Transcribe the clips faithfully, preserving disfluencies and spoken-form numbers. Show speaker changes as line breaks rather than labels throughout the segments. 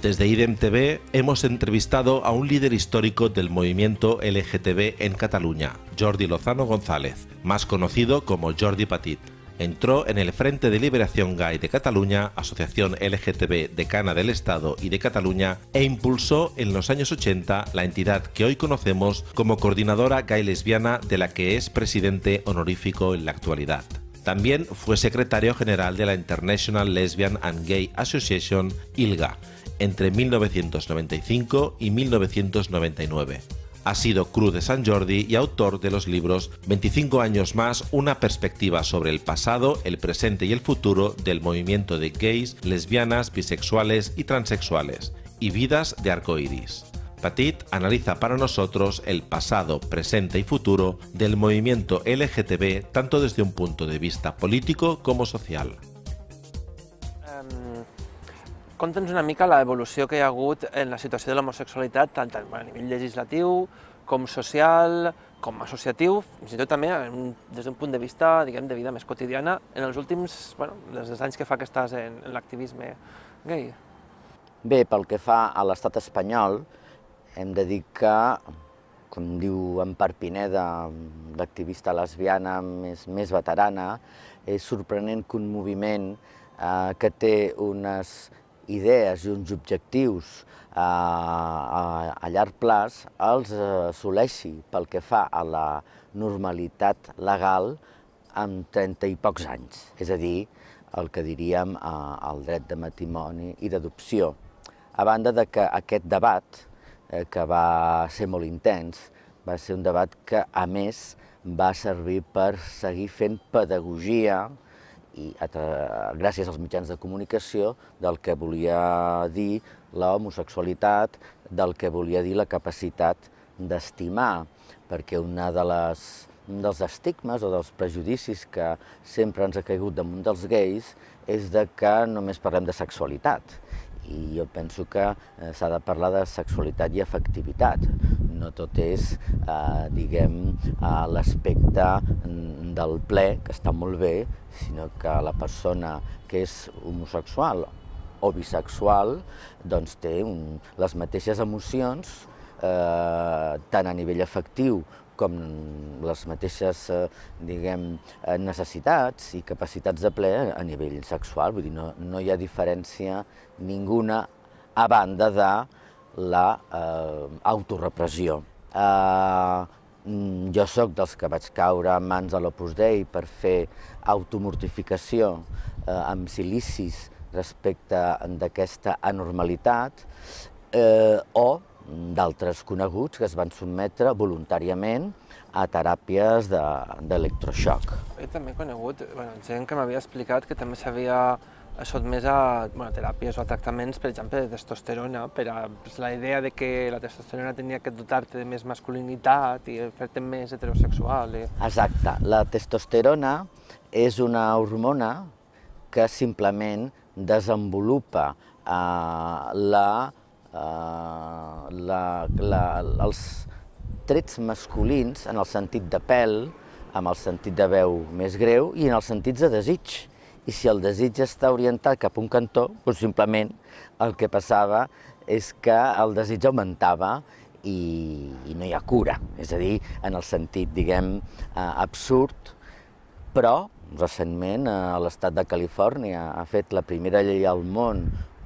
Desde IDEM T V hemos entrevistado a un líder histórico del movimiento L G T B en Cataluña, Jordi Lozano González, más conocido como Jordi Petit. Entró en el Frente de Liberación Gay de Cataluña, asociación L G T B decana del Estado y de Cataluña, e impulsó en los años ochenta la entidad que hoy conocemos como Coordinadora Gay Lesbiana, de la que es presidente honorífico en la actualidad. También fue secretario general de la International Lesbian and Gay Association, I L G A, entre mil novecientos noventa y cinco y mil novecientos noventa y nueve. Ha sido Cruz de Sant Jordi y autor de los libros veinticinco años más, una perspectiva sobre el pasado, el presente y el futuro del movimiento de gays, lesbianas, bisexuales y transexuales, y Vidas de Arcoiris. Petit analiza para nosotros el pasado, presente y futuro del movimiento L G T B tanto desde un punto de vista político como social.
Conta'ns una mica l'evolució que hi ha hagut en la situació de l'homosexualitat, tant a nivell legislatiu com social, com associatiu, fins i tot també des d'un punt de vista, diguem, de vida més quotidiana, en els últims, bueno, des dels anys que fa que estàs en, en l'activisme gay.
Bé, pel que fa a l'estat espanyol, hem de dir que, com diu Empar Pineda, l'activista lesbiana més, més veterana, és sorprenent que un moviment eh, que té unes idees i uns objectius a, a, a llarg plaç els assoleixi pel que fa a la normalitat legal amb trenta i pocs anys, és a dir, el que diríem el dret de matrimoni i d'adopció. A banda de que aquest debat, eh, que va ser molt intens, va ser un debat que, a més, va servir per seguir fent pedagogia i gràcies als mitjans de comunicació del que volia dir la homosexualitat, del que volia dir la capacitat d'estimar, perquè una de les, un dels estigmes o dels prejudicis que sempre ens ha caigut damunt dels gais és de que només parlem de sexualitat. I jo penso que s'ha de parlar de sexualitat i afectivitat. No tot és, eh, diguem, l'aspecte del ple, que està molt bé, sinó que la persona que és homosexual o bisexual doncs té un, les mateixes emocions, eh, tant a nivell afectiu com les mateixes, eh, diguem, necessitats i capacitats de ple a nivell sexual. Vull dir, no, no hi ha diferència ninguna a banda de la eh, autorepressió. Eh, jo sóc dels que vaig caure en mans de l'Opus Dei per fer automortificació eh, amb silicis respecte d'aquesta anormalitat, eh, o d'altres coneguts que es van sotmetre voluntàriament a teràpies d'electroxoc.
He també conegut bueno, gent que m'havia explicat que també s'havia sotmès a bueno, teràpies o a tractaments, per exemple, de testosterona, per a pues, la idea de que la testosterona tenia que dotar-te de més masculinitat i fer-te més heterosexual. I...
Exacte. La testosterona és una hormona que simplement desenvolupa eh, la Uh, la, la, els trets masculins en el sentit de pèl, amb el sentit de veu més greu i en els sentits de desig. I si el desig està orientat cap a un cantó, doncs simplement el que passava és que el desig augmentava i, i no hi ha cura. És a dir, en el sentit, diguem, uh, absurd, però recentment uh, l'estat de Califòrnia ha fet la primera llei al món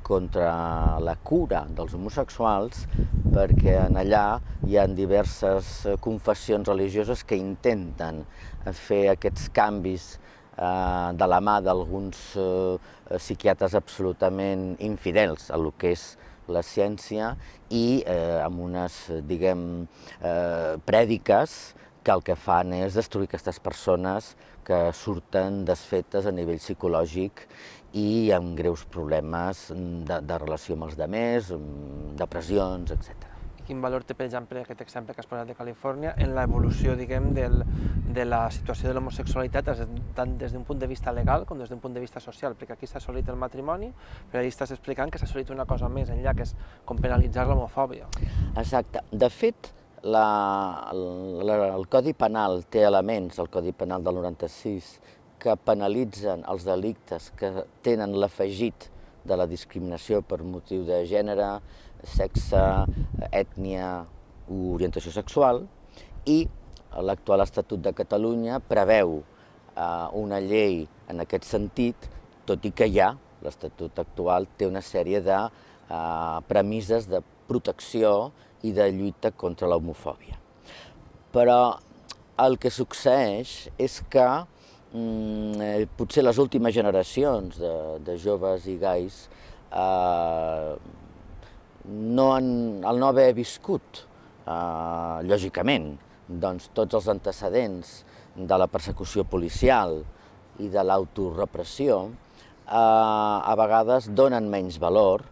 contra la cura dels homosexuals, perquè en allà hi ha diverses confessions religioses que intenten fer aquests canvis eh, de la mà d'alguns eh, psiquiatres absolutament infidels a lo que és la ciència i eh, amb unes, diguem, eh, prèdiques que el que fan és destruir aquestes persones que surten desfetes a nivell psicològic i amb greus problemes de, de relació amb els demés, depressions, etcètera.
Quin valor té, per exemple, aquest exemple que has posat de Califòrnia en l'evolució, diguem, del, de la situació de l'homosexualitat, tant des d'un punt de vista legal com des d'un punt de vista social? Perquè aquí s'ha assolit el matrimoni, però allà estàs explicant que s'ha assolit una cosa més enllà, que és com penalitzar l'homofòbia.
Exacte. De fet, la, la, el Codi Penal té elements, el Codi Penal del noranta-sis, que penalitzen els delictes que tenen l'afegit de la discriminació per motiu de gènere, sexe, ètnia o orientació sexual, i l'actual Estatut de Catalunya preveu una llei en aquest sentit, tot i que ja l'Estatut actual té una sèrie de premisses de protecció i de lluita contra l'homofòbia. Però el que succeeix és que potser les últimes generacions de joves i gais, al no haver viscut, lògicament, tots els antecedents de la persecució policial i de l'autorepressió, a vegades donen menys valor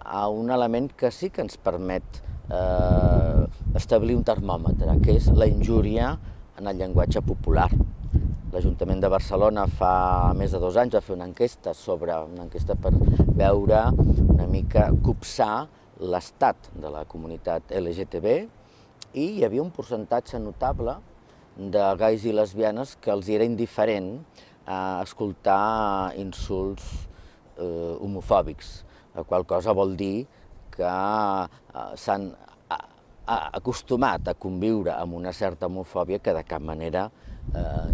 a un element que sí que ens permet establir un termòmetre, que és la injúria en el llenguatge popular. L'Ajuntament de Barcelona fa més de dos anys va fer una enquesta sobre una enquesta per veure una mica copsar l'estat de la comunitat L G T B i hi havia un percentatge notable de gais i lesbianes que els era indiferent escoltar insults homofòbics, la qual cosa vol dir que s'han acostumat a conviure amb una certa homofòbia que de cap manera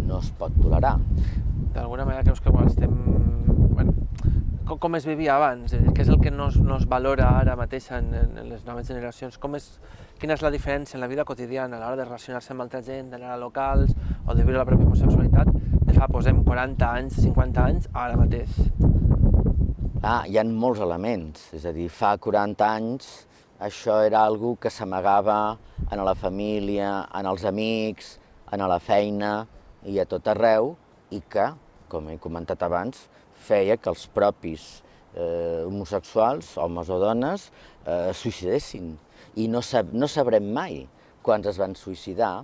no es pot tolerar.
D'alguna manera creus que estem... Com es vivia abans? Què és el que no es valora ara mateix en les noves generacions? Quina és la diferència en la vida quotidiana a l'hora de relacionar-se amb altra gent, d'anar a locals o de viure la pròpia homosexualitat de fa, posem, quaranta anys, cinquanta anys, ara mateix?
Ah, hi ha molts elements, és a dir, fa quaranta anys això era algo que s'amagava en la família, en els amics, en la feina i a tot arreu i que, com he comentat abans, feia que els propis homosexuals, homes o dones, es suïcidessin. I no sabrem mai quants es van suïcidar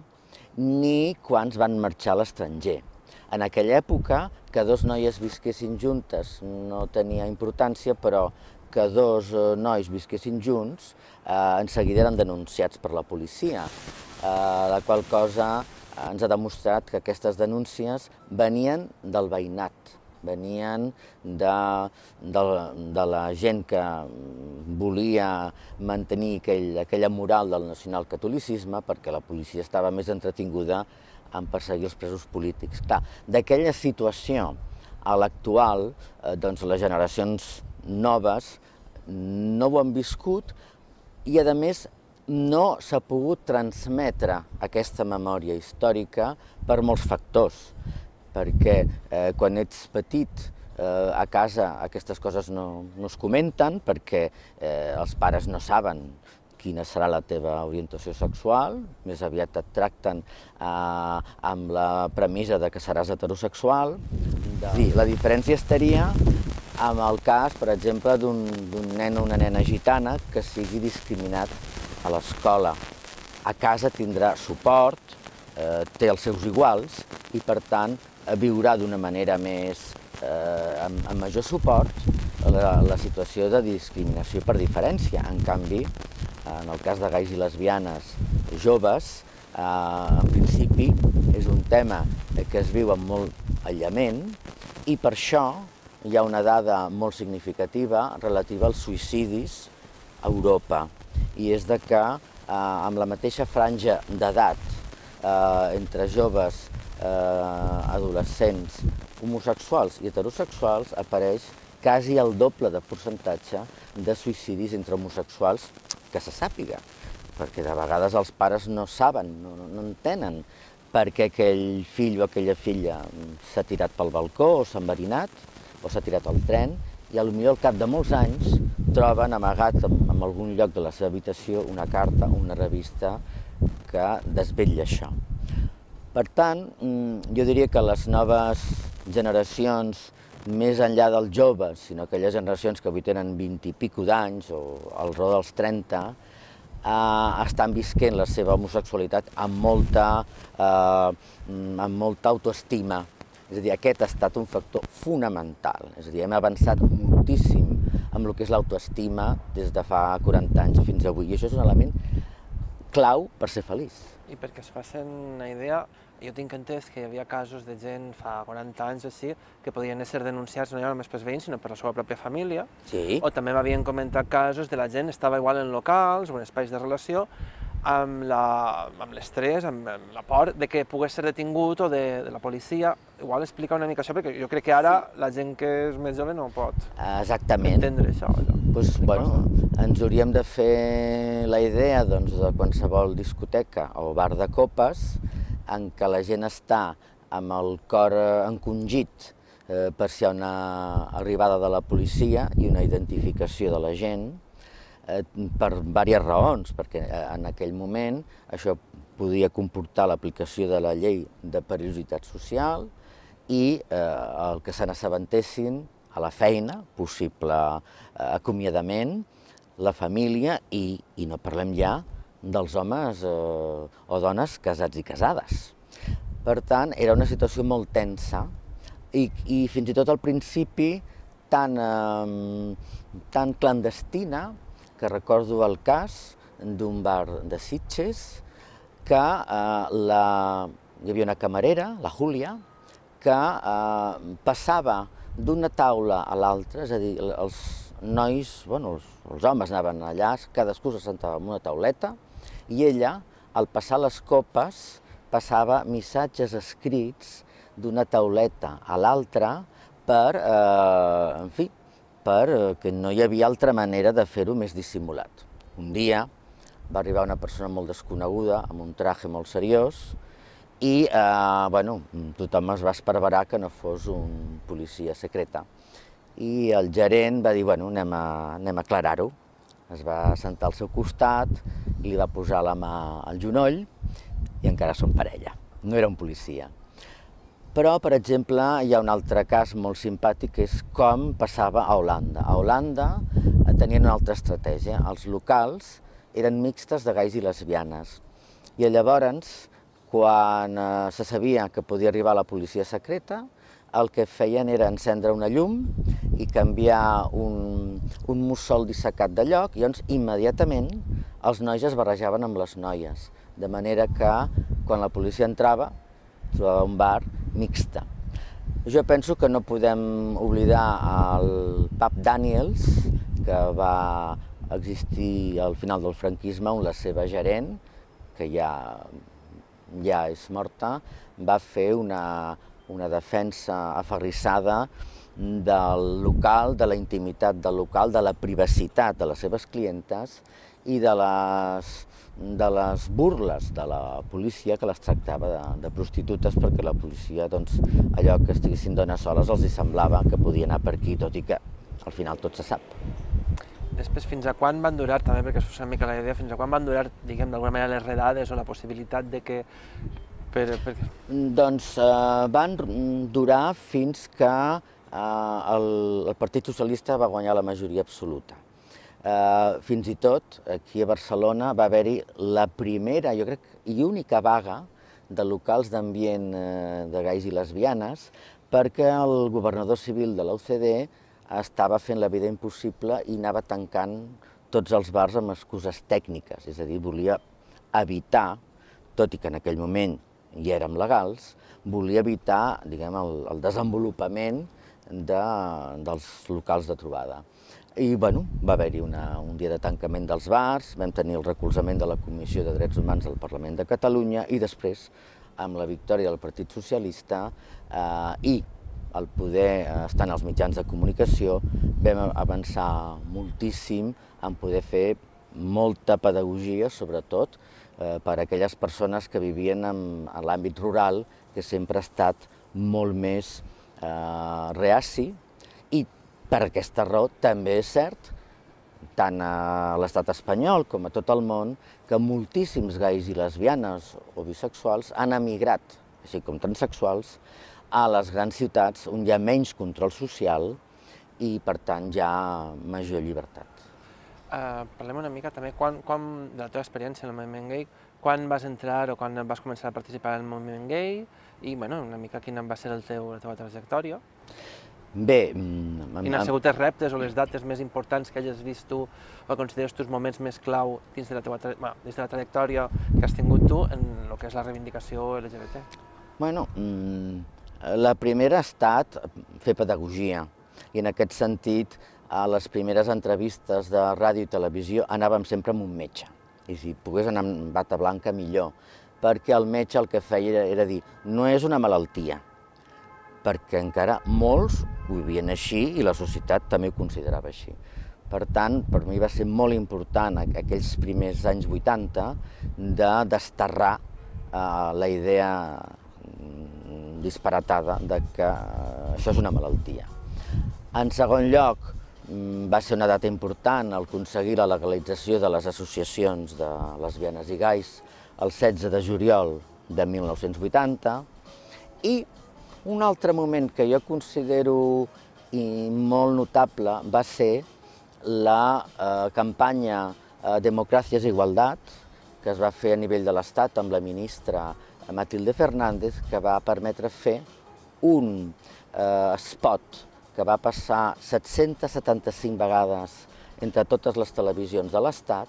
ni quants van marxar a l'estranger. En aquella època, que dos noies visquessin juntes no tenia importància, però que dos nois visquessin junts en seguida eren denunciats per la policia, la qual cosa ens ha demostrat que aquestes denúncies venien del veïnat, venien de la gent que volia mantenir aquella moral del nacionalcatolicisme perquè la policia estava més entretinguda en perseguir els presos polítics. Clar, d'aquella situació a l'actual, doncs les generacions noves no ho han viscut i, a més, no s'ha pogut transmetre aquesta memòria històrica per molts factors, perquè quan ets petit a casa aquestes coses no es comenten, perquè els pares no saben quina serà la teva orientació sexual, més aviat et tracten amb la premissa que seràs heterosexual. La diferència estaria en el cas, per exemple, d'un nen o una nena gitana que sigui discriminat a l'escola. A casa tindrà suport, té els seus iguals i, per tant, viurà d'una manera més, amb major suport, la situació de discriminació per diferència. En canvi, en el cas de gais i lesbianes joves, en principi és un tema que es viu amb molt aïllament i per això hi ha una dada molt significativa relativa als suïcidis a Europa. I és que amb la mateixa franja d'edat entre joves, adolescents, homosexuals i heterosexuals apareix quasi el doble de percentatge de suïcidis entre homosexuals que se sàpiga, perquè de vegades els pares no saben, no entenen per què aquell fill o aquella filla s'ha tirat pel balcó o s'ha enverinat o s'ha tirat al tren i potser al cap de molts anys troben amagat en algun lloc de la seva habitació una carta o una revista que desvetlla això. Per tant, jo diria que les noves generacions, més enllà dels joves, sinó aquelles generacions que avui tenen vint i pico d'anys o al redor dels trenta, estan visquent la seva homosexualitat amb molta autoestima. És a dir, aquest ha estat un factor fonamental. És a dir, hem avançat moltíssim amb el que és l'autoestima des de fa quaranta anys fins avui. I això és un element clau per ser feliç.
I perquè es facin una idea, jo tinc entès que hi havia casos de gent fa quaranta anys o així que podien ser denunciats no ja només pels veïns, sinó per la seva pròpia família.
Sí.
O també m'havien comentat casos de la gent estava igual en locals o en espais de relació amb l'estrès, amb, amb la por de que pogués ser detingut o de, de la policia. Igual explica una mica això, perquè jo crec que ara sí. La gent que és més jove no pot
Exactament.
entendre això.
Pues, bueno, ens hauríem de fer la idea doncs, de qualsevol discoteca o bar de copes en què la gent està amb el cor encongit eh, per si hi ha una arribada de la policia i una identificació de la gent, eh, per diverses raons, perquè en aquell moment això podia comportar l'aplicació de la llei de perillositat social i eh, el que se n'assabentessin a la feina, possible eh, acomiadament, la família i, i no parlem ja dels homes eh, o dones casats i casades. Per tant, era una situació molt tensa i, i fins i tot al principi tan, eh, tan clandestina que recordo el cas d'un bar de Sitges que eh, la, hi havia una camarera, la Júlia, que eh, passava d'una taula a l'altra, és a dir, els nois, bueno, els, els homes anaven allà, cadascú se sentava en una tauleta i ella, al passar les copes, passava missatges escrits d'una tauleta a l'altra per, eh, en fi, per que no hi havia altra manera de fer-ho més dissimulat. Un dia va arribar una persona molt desconeguda, amb un traje molt seriós, i eh, bueno, tothom es va esparverar que no fos un policia secreta. I el gerent va dir, bueno, anem a, anem a aclarar-ho. Es va sentar al seu costat, li va posar la mà al genoll i encara són parella. No era un policia. Però, per exemple, hi ha un altre cas molt simpàtic, que és com passava a Holanda. A Holanda tenien una altra estratègia. Els locals eren mixtes de gais i lesbianes. I llavors, quan eh, se sabia que podia arribar la policia secreta, el que feien era encendre una llum i canviar un, un mussol dissecat de lloc, i llavors immediatament els nois es barrejaven amb les noies, de manera que quan la policia entrava trobava un bar mixta. Jo penso que no podem oblidar el pub Daniels, que va existir al final del franquisme, on la seva gerent, que ja, ja és morta, va fer una, una defensa aferrissada del local, de la intimitat del local, de la privacitat de les seves clientes i de les, de les burles de la policia, que les tractava de, de prostitutes, perquè la policia, doncs, allò que estiguessin dones soles els hi semblava que podia anar per aquí, tot i que al final tot se sap.
Després, fins a quan van durar, també perquè us fos una mica la idea, fins a quan van durar, diguem, d'alguna manera les redades o la possibilitat de que... Per, per...
Doncs eh, van durar fins que eh, el, el Partit Socialista va guanyar la majoria absoluta. Eh, fins i tot, aquí a Barcelona va haver-hi la primera, jo crec, i única vaga de locals d'ambient eh, de gais i lesbianes, perquè el governador civil de la U C D estava fent la vida impossible i anava tancant tots els bars amb excuses tècniques, és a dir, volia evitar, tot i que en aquell moment hi érem legals, volia evitar, diguem, el, el desenvolupament de, dels locals de trobada. I, bueno, va haver-hi un dia de tancament dels bars, vam tenir el recolzament de la Comissió de Drets Humans del Parlament de Catalunya i després, amb la victòria del Partit Socialista eh, i el poder estar en els mitjans de comunicació, vam avançar moltíssim en poder fer molta pedagogia, sobretot eh, per a aquelles persones que vivien en, en l'àmbit rural, que sempre ha estat molt més eh, reaci, i per aquesta raó també és cert, tant a l'estat espanyol com a tot el món, que moltíssims gais i lesbianes o bisexuals han emigrat, així com transsexuals, a les grans ciutats on hi ha menys control social i, per tant, hi ha major llibertat.
Uh, parlem una mica també quan, quan, de la teva experiència en el moviment gai, quan vas entrar o quan vas començar a participar en el moviment gai i, bueno, una mica quina va ser el teu, la teva trajectòria.
Bé...
Quins han sigut els reptes o les dates més importants que hagis vist tu o consideres tu els moments més clau dins de la teva, bueno, dins de la trajectòria que has tingut tu en el que és la reivindicació L G B T?
Bueno, la primera ha estat fer pedagogia i en aquest sentit a les primeres entrevistes de ràdio i televisió anàvem sempre amb un metge i si pogués anar amb bata blanca millor, perquè el metge el que feia era dir no és una malaltia, perquè encara molts ho vivien així i la societat també ho considerava així. Per tant, per mi va ser molt important aquells primers anys vuitanta de desterrar la idea disparatada de que això és una malaltia. En segon lloc, va ser una data important aconseguir la legalització de les associacions de lesbianes i gais el setze de juliol de mil nou-cents vuitanta i un altre moment que jo considero molt notable va ser la campanya Democràcies i Igualtat que es va fer a nivell de l'Estat amb la ministra Matilde Fernández, que va permetre fer un spot que va passar set-centes setanta-cinc vegades entre totes les televisions de l'Estat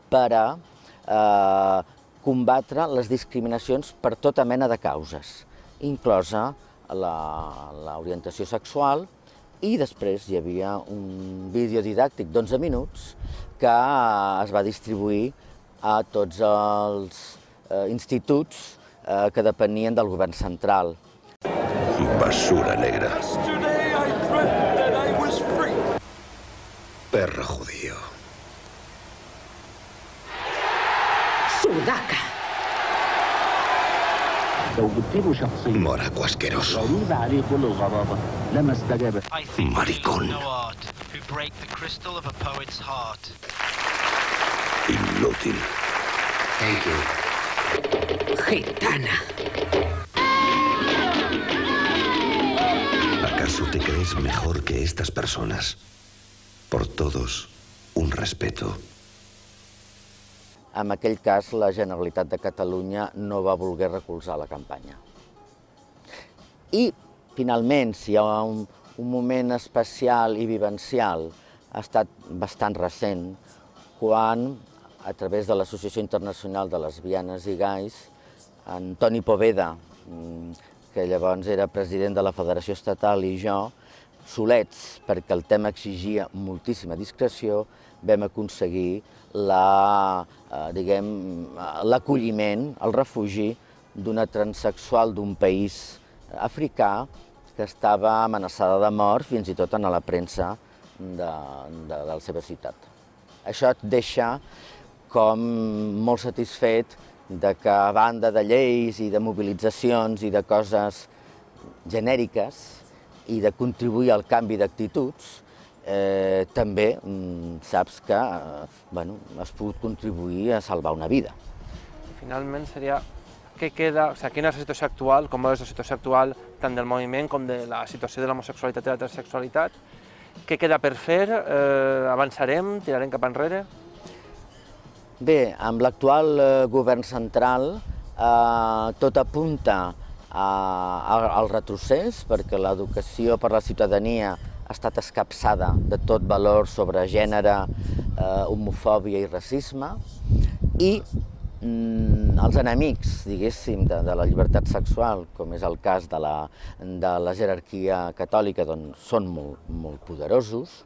per a combatre les discriminacions per tota mena de causes, inclosa l'orientació sexual, i després hi havia un vídeo didàctic d'onze minuts que es va distribuir a tots els instituts que depenien del govern central.
Basura negra. Perro judío.
Sudaca.
Moraco asqueroso. Maricón. Inútil.
Thank you. Gitana.
¿Acaso te crees mejor que estas personas? Por todos, un respeto.
En aquell cas, la Generalitat de Catalunya no va voler recolzar la campanya. I, finalment, si hi ha un, un moment especial i vivencial, ha estat bastant recent, quan, a través de l'Associació Internacional de Lesbianes i Gais, en Toni Poveda, que llavors era president de la Federació Estatal, i jo, solets, perquè el tema exigia moltíssima discreció, vam aconseguir l'acolliment, el refugi d'una transsexual d'un país africà que estava amenaçada de mort fins i tot en la premsa de la seva ciutat. Això et deixa com molt satisfet que a banda de lleis i de mobilitzacions i de coses genèriques i de contribuir al canvi d'actituds, també saps que has pogut contribuir a salvar una vida.
Finalment seria, què queda, o sigui, quina és la situació actual, com és la situació actual tant del moviment com de la situació de l'homosexualitat i la transsexualitat, què queda per fer, avançarem, tirarem cap enrere?
Bé, amb l'actual govern central tot apunta al retrocés, perquè l'educació per a la ciutadania ha estat escapçada de tot valor sobre gènere, homofòbia i racisme, i els enemics, diguéssim, de la llibertat sexual, com és el cas de la jerarquia catòlica, són molt poderosos,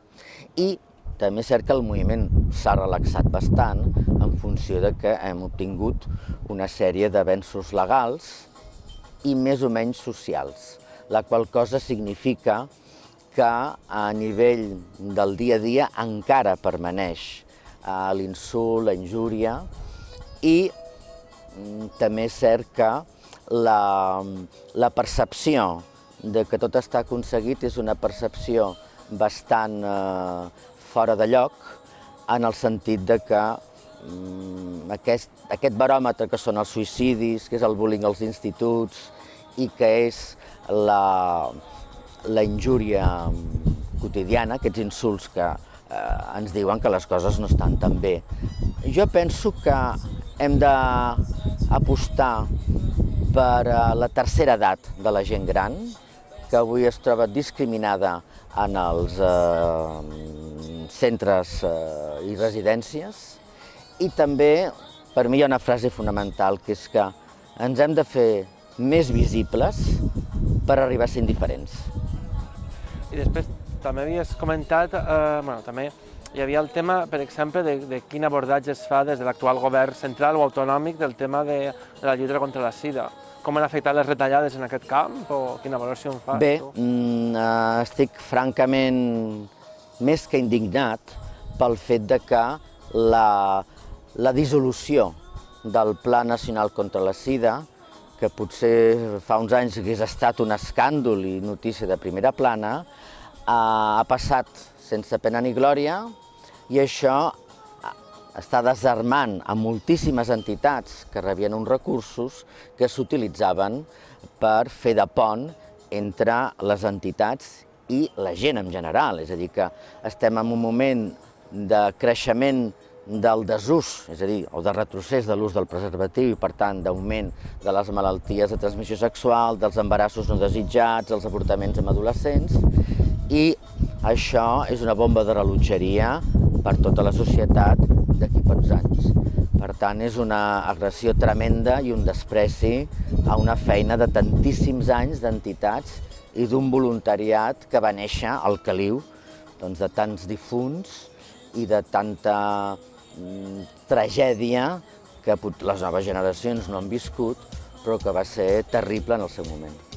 i també és cert que el moviment s'ha relaxat bastant en funció que hem obtingut una sèrie d'avenços legals i més o menys socials, la qual cosa significa que a nivell del dia a dia encara permaneix l'insult, la injúria, i també és cert que la percepció que tot està aconseguit és una percepció bastant fora de lloc, en el sentit que aquest baròmetre que són els suïcidis, que és el bullying als instituts i que és la injúria quotidiana, aquests insults que ens diuen que les coses no estan tan bé. Jo penso que hem d'apostar per la tercera edat de la gent gran, que avui es troba discriminada en els centres i residències, i també, per mi hi ha una frase fonamental, que és que ens hem de fer més visibles per arribar a ser indiferents.
I després també havies comentat, eh, bueno, també hi havia el tema, per exemple, de, de quin abordatge es fa des de l'actual govern central o autonòmic del tema de, de la lluita contra la sida. Com han afectat les retallades en aquest camp o quina valoració en fas?
Bé,
tu?
mm, estic francament més que indignat pel fet de que la, la dissolució del Pla Nacional contra la Sida, que potser fa uns anys hagués estat un escàndol i notícia de primera plana, ha passat sense pena ni glòria i això està desarmant a moltíssimes entitats que rebien uns recursos que s'utilitzaven per fer de pont entre les entitats i la gent en general. És a dir, que estem en un moment de creixement del desús, és a dir, o de retrocés de l'ús del preservatiu i, per tant, d'augment de les malalties de transmissió sexual, dels embarassos no desitjats, els avortaments en adolescents, i això és una bomba de rellotgeria per tota la societat d'aquí pocs anys. Per tant, és una agressió tremenda i un despreci a una feina de tantíssims anys d'entitats i d'un voluntariat que va néixer al caliu doncs, de tants difunts i de tanta mm, tragèdia que les noves generacions no han viscut, però que va ser terrible en el seu moment.